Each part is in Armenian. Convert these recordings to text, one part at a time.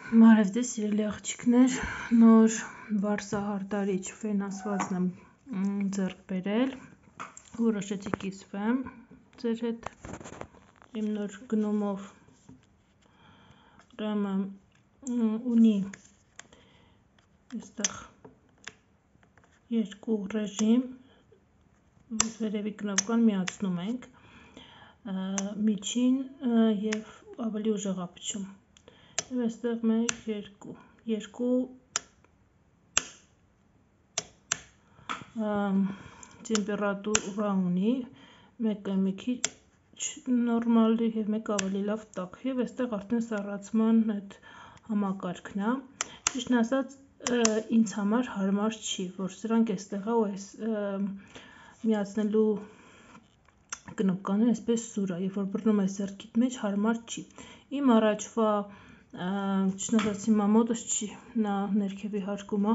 Բարև ձեզ սիրելի աղջիկներ, նոր վարսահարտարիչ ֆենասվածն եմ ձեռք բերել, որոշեցի կիսվեմ ձեր հետ իմ նոր գնումով, ուրեմն ունի այստեղ երկու ռեժիմ, վերևի կնոպկան միացնում ենք, միջին և ավելի ուժեղափչում, և այստեղ մեկ, երկու տեմպերատուրա ունի, մեկը մի քիչ նորմալ և մեկը ավելի լավ տաք, և այստեղ արդեն սառացման այդ համակարգն է, ճիշտն ասած ինձ համար հարմար չի, որ սրանք այստեղ է ու այս միացնելու կնոպկաները այսպես սուր է, երբ որ բռնում ես ձեռքիդ մեջ հարմար չի, իմ առաջվա ճիշտն ասած հիմա մոտս չի, նա ներքևի հարկում է,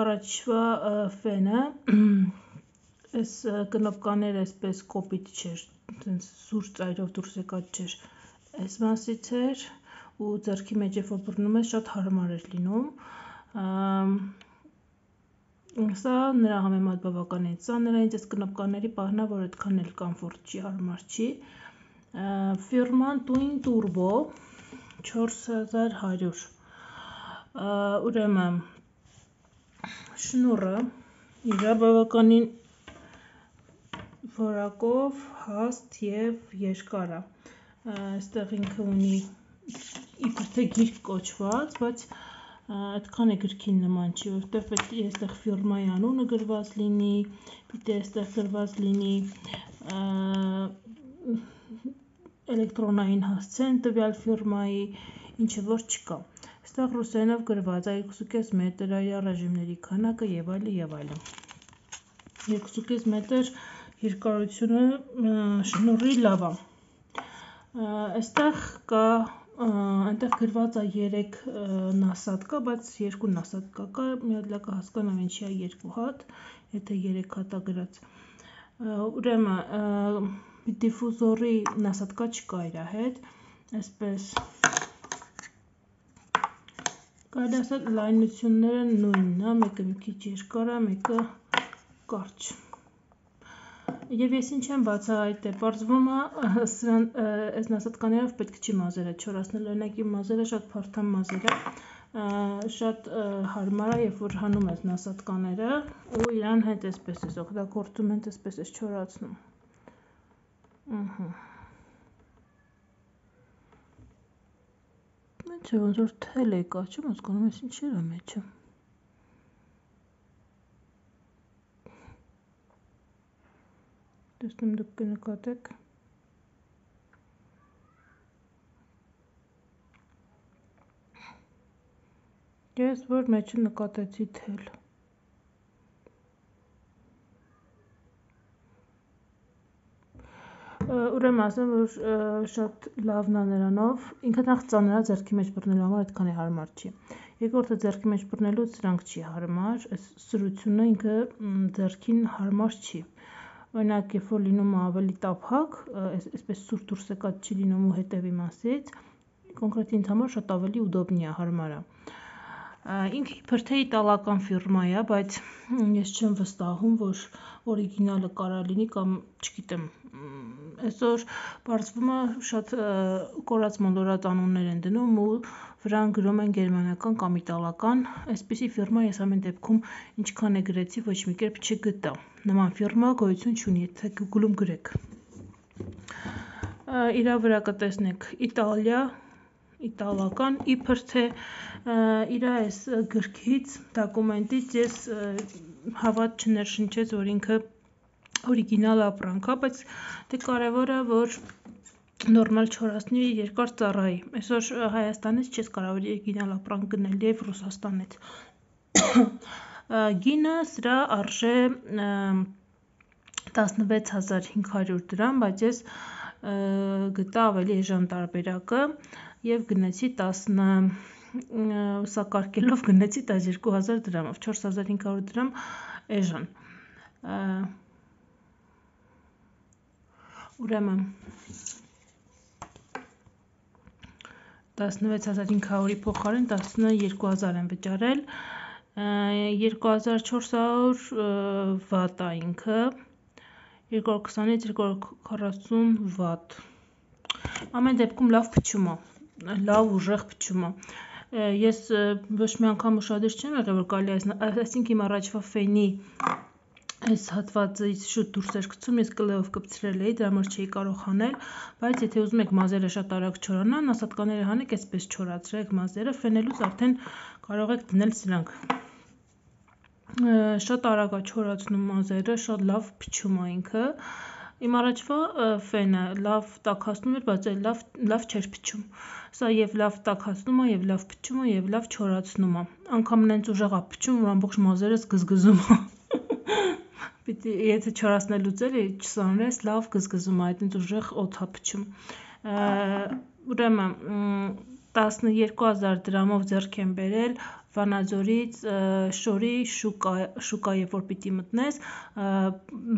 առաջվա ֆենը, այս կնոպկաները այսպես կոպիտ չէր, սուր ծայրով դուրս եկած չէր, այս մասից էր ու ձեռքի մեջ երբ որ բռնում ես շատ հարմար էր լինում, սա նրա համեմատ բավականին ծանր է, ինձ այս կնոպկաների պահն է, որ այդքան էլ կոմֆորտ չի, հարմար չի, ֆիրման Twin Turbo 4100, ուրեմն շնուրը իր բավականին որակով հաստ և երկար է, այստեղ ինքը ունի իբր թե գիրք կոչված, բայց այդքան է գրքին նման չի, որովհետև պետք է այստեղ ֆիրմայի անունը գրված լինի, պիտի այստեղ գրված լինի էլեկտրոնային հասցեն տվյալ ֆիրմայի, ինչը որ չկա, այստեղ ռուսերենով գրված է 2.5 մետր է իր ռեժիմների քանակը և այլն, 2.5 մետր երկարությունը շնուրի լավ է, այստեղ կա, այնտեղ գրված է 3 նասատկա, բայց 2 նասատկա կա, մի հատ լավ կհասկանամ ինչի է 2 հատ, եթե 3 հատ է գրած, ուրեմն դիֆուզորի նասատկա չկա իր հետ, այսպես կարելի ասել լայնությունները նույնն է, մեկը մի քիչ երկար է, մեկը կարճ, և ես ինչ եմ բացահայտել, պարզվում է այս նասատկաներով պետք չի մազերը չորացնել, օրինակ իմ մազերը շատ փարթամ մազեր է, շատ հարմար է, երբ որ հանում ես նասատկաները ու իրան հետ այսպես ես օգտագործում, հենց այսպես ես չորացնում, Ինչ է ոնց որ թել է կա, չեմ հասկանում ես ինչեր է մեջը, տեսնում դուք կնկատեք, ես որ մեջը նկատեցի թել, ուրեմն ասեմ, որ շատ լավն է նրանով, ինքը նախ ծանր է ձեռքի մեջ բռնելու համար այդքան է հարմար չի, երկրորդը ձեռքի մեջ բռնելուց սրանք չի հարմար, այս սրությունը ինքը ձեռքին հարմար չի, օրինակ երբ որ լինում է ավելի տափակ, այսպես սուր դուրս եկած չի լինում ու հետևի մասից, կոնկրետ ինձ համար շատ ավելի ուդոբնի է, հարմար է, ինքը իբր թե իտալական ֆիրմա է, բայց ես չեմ վստահում, որ օրիգինալը կարա լինի կամ չգիտեմ, այսօր պարզվում է շատ կորած մոլորած անուններ են դնում ու վրան գրում են գերմանական կամ իտալական, այսպիսի ֆիրմա ես ամեն դեպքում ինչքան է գրեցի ոչ մի կերպ չգտա, նման ֆիրմա գոյություն չունի, եթե Google-ում գրեք, իրա վրա կտեսնեք Իտալիա, իտալական, իբր թե իր այս գրքից, դոկումենտից ես հավատ չներշնչեց, որ ինքը օրիգինալ ապրանք է, բայց դե կարևորը, որ նորմալ չորացնի երկար ծառայի, այսօր Հայաստանից չես կարող օրիգինալ ապրանք գնել և Ռուսաստանից, գինը սրա արժե 16500 դրամ, բայց ես գտա ավելի էժան տարբերակը և գնեցի սակարկելով գնեցի 12000 դրամով, 4500 դրամ էժան, ուրեմն 16500-ի փոխարեն 12000 եմ վճարել, 2400 վատ է ինքը, 220-ից 240 վատ, ամեն դեպքում լավ փչում է, լավ ուժեղ փչում է, ես ոչ մի անգամ ուշադիր չեմ եղել, որ կարելի այսինքն իմ առաջվա ֆենի այս հատվածից շուտ դուրս էր գցում, ես կլեով կպցրել էի, դրա համար չէի կարող հանել, բայց եթե ուզում եք մազերը շատ արագ չորանան, ասատկաները հանեք, այսպես չորացրեք մազերը, ֆենելուց արդեն կարող եք դնել սրանք, շատ արագ է չորացնում մազերը, շատ լավ փչում է ինքը, իմ առաջվա ֆենը լավ տաքացնում էր, բայց լավ չէր փչում, սա և լավ տաքացնում է, և լավ փչում է, և լավ չորացնում է, անգամ նենց ուժեղ է փչում, որ ամբողջ մազերս գզգզում է, եթե չորացնելուց էլի չսանրես, լավ գզգզում է, այդպես ուժեղ օդ է փչում, ուրեմն 12000 դրամով ձեռք եմ բերել Վանաձորից շորի շուկա, երբ որ պիտի մտնես,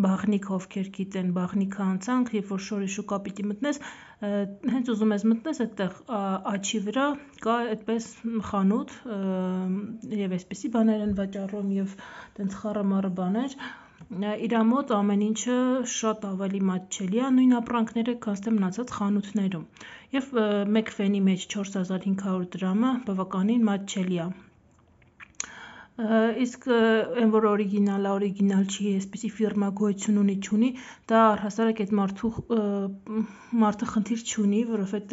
բաղնիք ովքեր գիտեն, բաղնիքը անցանք, երբ որ շորի շուկա պիտի մտնես, հենց ուզում ես մտնես, այդտեղ աչի վրա կա այդպես խանութ, և այսպիսի բաներ են վաճառում, և տենց խառը մառը բաներ, իր մոտ ամեն ինչը շատ ավելի մատչելի է, նույն ապրանքները քան թե մնացած խանութներում, և մեկ ֆենի մեջ 4500 դրամը բավականին մատչելի է, իսկ այն որ օրիգինալ չի, այսպիսի ֆիրմա գոյություն ունի չունի, դա առհասարակ այդ մարդը խնդիր չունի, որովհետև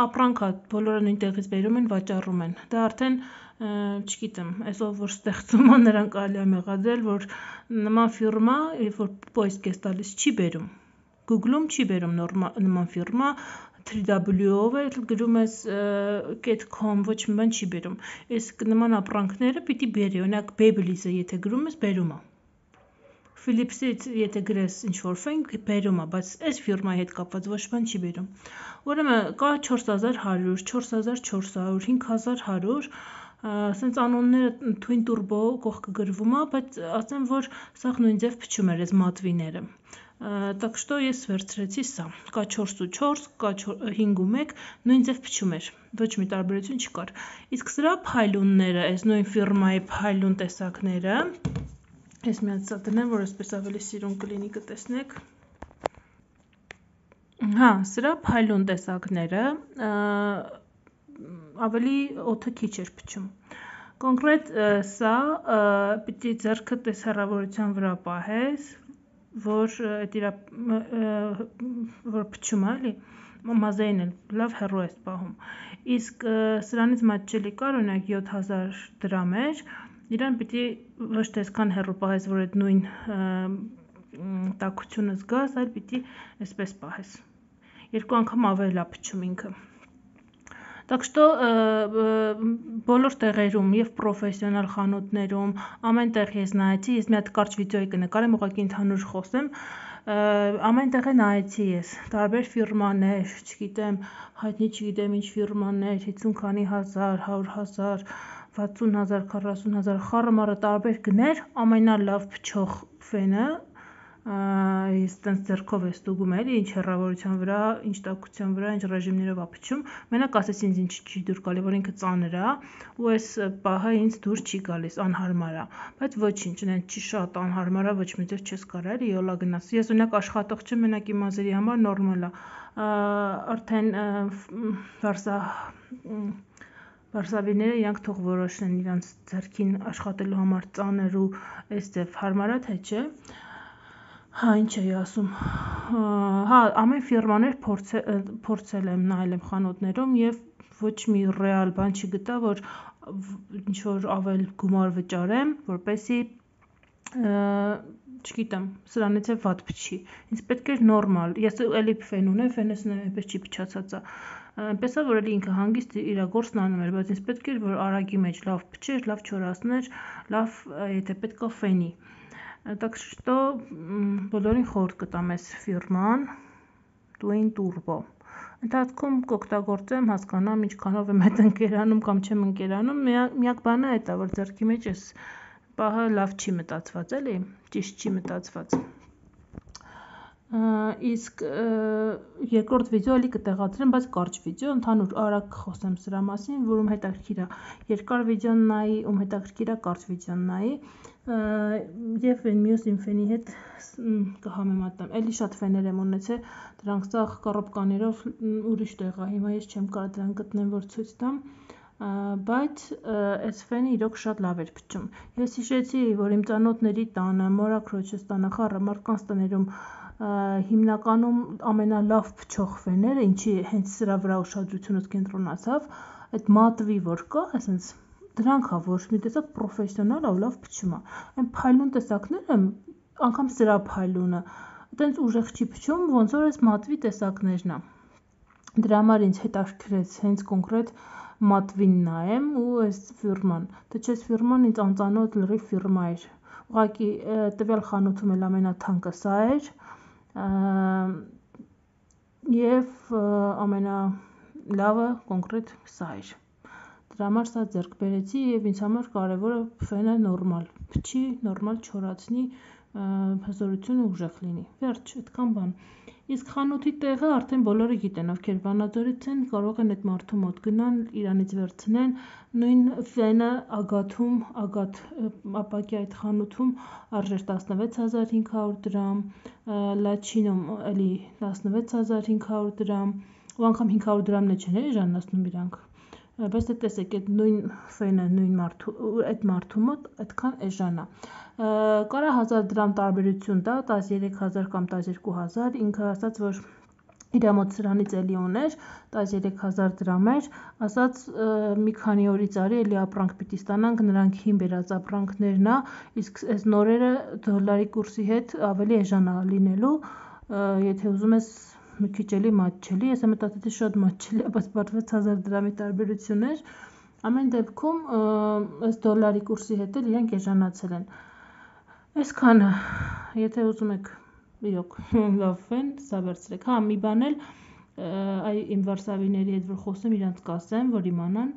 ապրանք է, բոլորը նույն տեղից բերում են, վաճառում են, դա արդեն չգիտեմ, այս ով որ ստեղծում է, նրան կարելի է մեղադրել, որ նման ֆիրմա, երբ որ պոիսկ ես տալիս, չի բերում, Google-ում չի բերում նման ֆիրմա, 3W-ով էլ գրում ես .com, ոչ մի բան չի բերում, իսկ նման ապրանքները պիտի բերի, օրինակ Babyliss-ը եթե գրում ես, բերում է, Philips-ից եթե գրես ինչ-որ ֆեն, բերում է, բայց այս ֆիրմայի հետ կապված ոչ բան չի բերում, ուրեմն կա 4100, 4400, 5100, սենց անոնները թույն տուրբո կողքը գրվում է, բայց ասեմ, որ սաղ նույն ձև փչում էր այս մատվիները, так что ես վերցրեցի սա, կա 4 կա 5 նույն ձև փչում էր, ոչ մի տարբերություն չկար, իսկ սրա փայլունները, այս նույն ֆիրմայի փայլուն տեսակները, ես մի հատ սա տնեմ, որ այսպես ավելի սիրուն կլինի կտեսնեք, սրա փայլուն տեսակները ավելի օդը քիչ էր փչում, կոնկրետ սա պիտի ձեռքդ այս հեռավորության վրա պահես, որ փչում է, էլի, մազերին էլ լավ հեռու ես պահում, իսկ սրանից մատչելի կար, օրինակ 7000 դրամ էր, իրան պիտի ոչ թե այսքան հեռու պահես, որ այդ նույն տաքությունը զգաս, այլ պիտի այսպես պահես, երկու անգամ ավելի է փչում ինքը, так что բոլոր տեղերում և պրոֆեսիոնալ խանութներում, ամեն տեղ ես նայեցի, ես մի հատ կարճ վիդեոյի կնկարեմ, ուղղակի ընդհանուր խոսեմ, ամեն տեղ նայեցի ես, տարբեր ֆիրմաներ, չգիտեմ, հայտնի չգիտեմ ինչ ֆիրմաներ, 50 քանի հազար, 100 000, 60 000, 40 000, խառը մառը տարբեր գներ, ամենալավ փչող ֆենը, ես տենց ձեռքով ես ստուգում էլի, ինչ հեռավորության վրա, ինչ տաքության վրա, ինչ ռեժիմներով է փչում, մենակ ասես ինձ ինչ չի դուր գալի, որ ինքը ծանր է, ու այս պահը ինձ դուր չի գալիս, անհարմար է, բայց ոչինչ, նենց չի շատ անհարմար է, ոչ մի ձև չես կարա էլի յոլա գնաս, ես օրինակ աշխատող չեմ, մենակ իմ մազերի համար նորմալ է, արդեն վարսավիրները իրանք թող որոշեն իրանց ձեռքին աշխատելու համար ծանր ու այս ձև հարմար է թե չէ, ինչ էի ասում, ամեն ֆիրմաներ փորձել եմ, նայել եմ խանութներում և ոչ մի ռեալ բան չգտա, որ ինչ-որ ավել գումար վճարեմ, որպեսզի, չգիտեմ, սրանից է վատ փչի, ինձ պետք էր նորմալ, ես էլի ֆեն ունեմ, ֆենս այնպես չի փչացած է, այնպես է, որ էլի ինքը հանգիստ իր գործն անում էր, բայց ինձ պետք էր, որ արագի մեջ լավ փչեր, լավ չորացներ, լավ, եթե պետք է ֆենի, так что բոլորին խորհուրդ կտամ այս ֆիրման, Twin Turbo, ընթացքում կօգտագործեմ, հասկանամ ինչքանով եմ հետ ընկերանում կամ չեմ ընկերանում, միակ բանը այդ է, որ ձեռքի մեջ այս պահը լավ չի մտածված, էլի, ճիշտ չի մտածված, Իսկ երկրորդ վիդեո էլի կտեղադրեմ, բայց կարճ վիդեո, ընդհանուր արագ կխոսեմ սրա մասին, որում հետաքրքիր է երկար վիդեոն նայի, ում հետաքրքիր է կարճ վիդեոն նայի, եւ մյուս իմ ֆենի հետ կհամեմատեմ։ Էլի շատ ֆեներ եմ ունեցել, դրանք սաղ կառոպկաներով ուրիշ տեղ է, հիմա ես չեմ կարող դրանք գտնեմ, որ ցույց տամ, բայց այս ֆենը իրոք շատ լավ էր փչում։ Ես հիշեցի, որ իմ ծանոթների տանը, մորաքրոջս տանը, խառը մարդկանց տներում հիմնականում ամենալավ փչող ֆեները, ինչի հենց սրա վրա ուշադրությունս կենտրոնացավ, այդ մատվի որ կա, այսինքն դրանք է, որ մի տեսակ պրոֆեսիոնալ է ու լավ փչում է։ Այն փայլուն տեսակները, անգամ սրա փայլունը, այտենց ուժեղ չի փչում, ոնց որ այս մատվի տեսակներն է։ Դրա համար ինձ հետաքրքրեց հենց կոնկրետ մատվին նայեմ ու այս ֆիրման, թե չէ ֆիրման ինձ անծանոթ լրիվ ֆիրմա էր։ Ուղղակի տվյալ խանութում էլ ամենաթանկը սա էր եւ ամենալավը կոնկրետ սա էր։ Դրա համար սա ձեռք բերեցի եւ ինձ համար կարեւորը ֆենը նորմալ փչի, նորմալ չորացնի, հզորությունը ուժեղ լինի։ Վերջ, այդքան բան։ Իսկ խանութի տեղը արդեն բոլորը գիտեն, ովքեր Վանաձորից են, կարող են այդ մարդու մոտ գնան, իրանից վերցնեն, նույն ֆենը Ագաթում, Ագաթ ապակի այդ խանութում արժեր 16500 դրամ, Լաչինում էլի 16500 դրամ, ու անգամ 500 դրամն է չեն էժանացնում իրանք։ Բայց դե տեսեք, այդ նույն ֆենը նույն մարդու այդ մարդու մոտ այդքան էժան է։ Կարա 1000 դրամ տարբերություն տա, 13000 կամ 12000, ինքը ասաց, որ իր մոտ սրանից էլի ուներ, 13000 դրամ էր, ասաց մի քանի օրից արի էլի ապրանք պիտի ստանանք, նրանք հին բերած ապրանքներն է, իսկ այս նորերը դոլարի կուրսի հետ ավելի էժան է լինելու, եթե ուզում ես մի քիչ էլի մատչելի, ես մտածեցի շատ մատչելի է, բայց պատվեց 1000 դրամի տարբերություն էր, ամեն դեպքում այս դոլարի կուրսի հետ էլ իրենք էժանացել են։ Այսքանը, եթե ուզում եք իրոք լավ ֆեն, սա վերցրեք։ Հա, մի բան էլ այ իմ վարսավիների հետ որ խոսեմ, իրանց կասեմ, որ իմանան,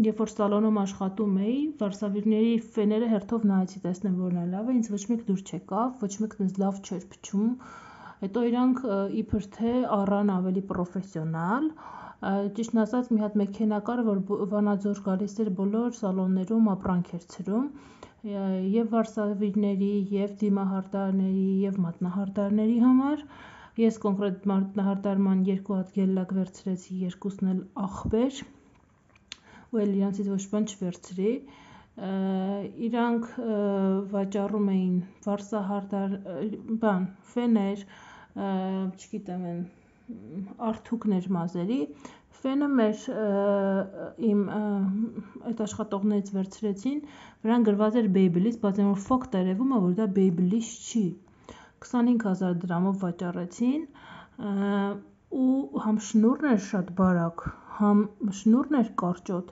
երբ որ սալոնում աշխատում էի, վարսավիրների ֆեները հերթով նայեցի, տեսնեմ որն է լավը, ինձ ոչ մեկ դուր չեկավ, ոչ մեկն ինձ լավ չէր փչում, հետո իրանք իբր թե առան ավելի պրոֆեսիոնալ, ճիշտն ասած մի հատ մեքենա կար, որ Վանաձոր գալիս էր բոլոր սալոններում ապրանք էր ցրում, եւ վարսավիրների, եւ դիմահարդարների, եւ մատնահարդարների համար, ես կոնկրետ մատնահարդարման 2 հատ գելլակ վերցրեցի, երկուսն էլ ախպեր, ու էլ իրանցից ոչ բան չվերցրի, իրանք վաճառում էին վարսահարդար, բան, ֆեներ, չգիտեմ են, արթուկներ մազերի, ֆենը մեր իմ այդ աշխատողներից վերցրեցին, վրան գրված էր Babyliss, բայց այն որ ֆոկ տերևում է, որ դա Babyliss չի, 25000 դրամով վաճառեցին, ու համ շնուրն էր շատ բարակ, համ շնուրն էր կարճոտ,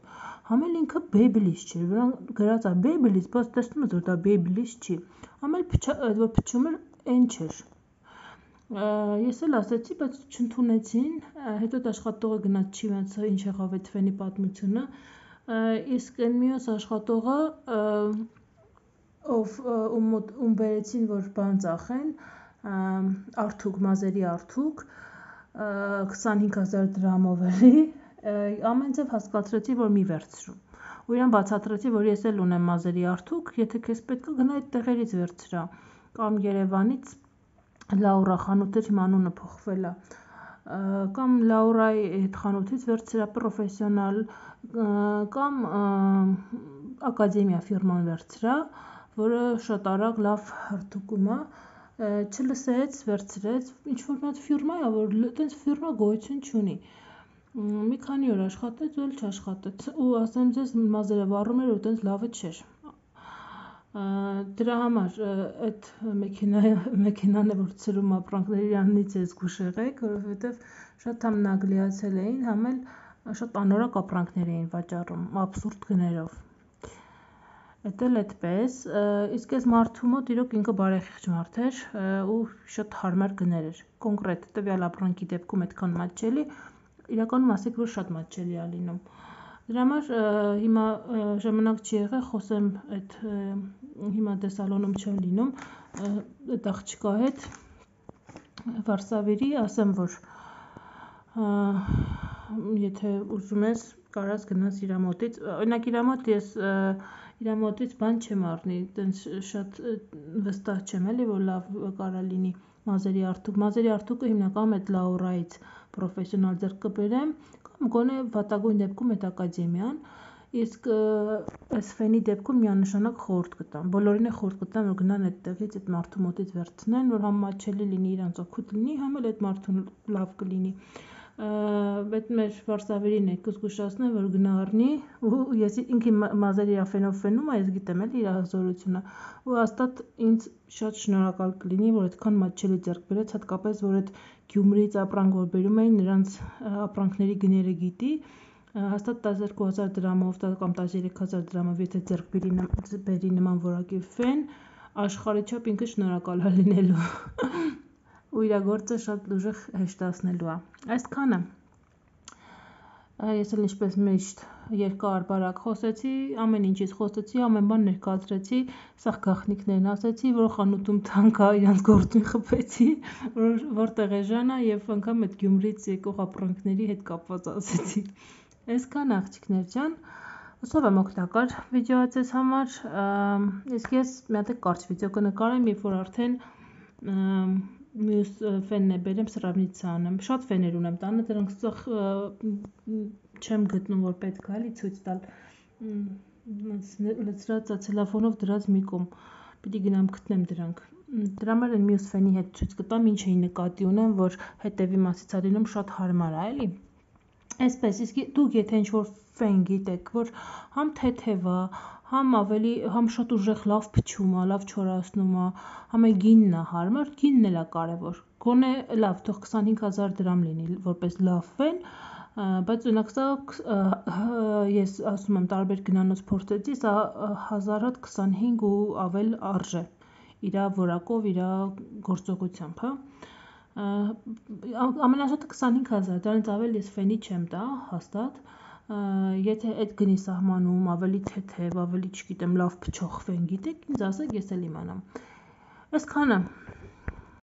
համ էլ ինքը Babyliss չէր, վրան գրած է Babyliss, բայց տեսնում ես որ դա Babyliss չի, համ էլ որ փչում էր այն չէր։ Ես էլ ասեցի, բայց չընդունեցին, հետո այդ աշխատողը գնաց չի ոնց ինչ եղավ այդ ֆենի պատմությունը, իսկ այն մյուս աշխատողը, ում բերեցին, որ բան ծախեն, արթուկ, մազերի արթուկ, 25000 դրամով էլի, ամեն ձև հասկացրեցի, որ մի վերցրու, ու իրան բացատրեցի, որ ես էլ ունեմ մազերի արթուկ, եթե քեզ պետք է գնա այդ տեղերից վերցրա, կամ Երևանից Լաուրա խանութ էր, հիմա անունը փոխվել է, կամ Լաուրայի այդ խանութից վերցրա պրոֆեսիոնալ, կամ Ակադեմիա ֆիրման վերցրա, որը շատ արագ լավ հարթուկում է, չլսեց, վերցրեց, ինչ-որ մի հատ ֆիրմա է, որ այտենց ֆիրմա գոյություն չունի, մի քանի օր աշխատեց ու էլ չաշխատեց, ու ասեմ ձեզ մազերը վառում էր ու այտենց լավը չէր, դրա համար այդ մեքենան է, որ ցրում ապրանքներ իրանից է զգուշ եղեք, որովհետև շատ համ նագլիացել էին, համ էլ շատ անորակ ապրանքներ էին վաճառում, աբսուրդ գներով, Էդ էլ այդպես, իսկ այս մարդու մոտ իրոք ինքը բարեխիղճ մարդ էր ու շատ հարմար գներ էր, կոնկրետ տվյալ ապրանքի դեպքում այդքան մատչելի, իրականում ասեք, որ շատ մատչելի է լինում, դրա համար հիմա ժամանակ չի եղել, խոսեմ այդ հիմա դե սալոնում չեմ լինում, այդ աղջկա հետ վարսավիրի, ասեմ, որ եթե ուզում ես կարաս գնաս իրա մոտից, օրինակ իրա մոտից բան չեմ առնի, տենց շատ վստահ չեմ էլի, որ լավ կարա լինի մազերի արտուկը հիմնականում այդ Լաուրայից պրոֆեսիոնալ ձեռք կբերեմ, կամ գոնե վատագույն դեպքում այդ ակադեմիան, իսկ այս ֆենի դեպքում միանշանակ խորհուրդ կտամ, բոլորին է խորհուրդ կտամ, որ գնան այդտեղից այդ մարդու մոտից վերցնեն, որ համ մատչելի լինի, իրանց օգուտ լինի, համ էլ այդ մարդուն լավ կլինի։ Այդ մեր վարսավիրին է կզգուշացնեմ, որ գնա առնի, ու ես ինքը մազերի ֆենով ֆենում է, ես գիտեմ էլի իր հզորությունը, ու հաստատ ինձ շատ շնորհակալ կլինի, որ այդքան մատչելի ձեռք բերեց, հատկապես որ այդ Գյումրիից ապրանք որ բերում էին, նրանց ապրանքների գները գիտի, հաստատ 12,000 դրամով կամ 13,000 դրամով եթե ձեռք բերի նման որակի ֆեն, աշխարհի չափ ինքը շնորհակալ է լինելու ու իր գործը շատ ուժեղ հեշտացնելու է։ Այսքանը ես էլ ինչպես միշտ երկար-բարակ խոսեցի, ամեն ինչից խոսեցի, ամեն բան ներկայացրեցի, սաղ գաղտնիքներն ասեցի, որ խանութում թանկ է, իրանց գործին խփեցի, որտեղ է Ժանա եւ անգամ այդ Գյումրիից եկող ապրանքների հետ կապված ասեցի։ Այսքան աղջիկներ ջան, հուսով եմ օգտակար վիդեո է ձեզ համար, իսկ ես մի հատ կարճ վիդեո կնկարեմ, երբ որ արդեն մյուս ֆենն է բերեմ սրավնիցա անեմ, շատ ֆեներ ունեմ տանը, դրանք սաղ չեմ գտնում, որ պետք է էլի ցույց տալ, լցրած ցելոֆանով դրած մի կողմ, պիտի գնամ գտնեմ դրանք, դրա համար են մյուս ֆենի հետ ցույց կտամ, ինչ էի նկատի ունեմ, որ հետևի մասից է լինում շատ հարմար է, էլի, այսպես, իսկ դուք եթե ինչ-որ ֆեն գիտեք, որ համ թեթև է, համ շատ ուժեղ լավ փչում է, լավ չորացնում է, համ է գինն է հարմար, գինն էլ է կարևոր, գոնե լավ, թող 25,000 դրամ լինի, որպես լավ ֆեն, բայց օրինակ սա ես ասում եմ տարբեր գնանոց փորձեցի, սա 1025 ու ավել արժե, իրա որակով, իրա գործողությամբ, հա, ամենաշատը 25,000, դրանից ավել ես ֆենի չեմ տա, հաստատ, եթե այդ գնի սահմանում, ավելի թեթև, ավելի չգիտեմ, լավ փչող ֆեն գիտեք, ինձ ասեք, ես էլ իմանամ, այսքանը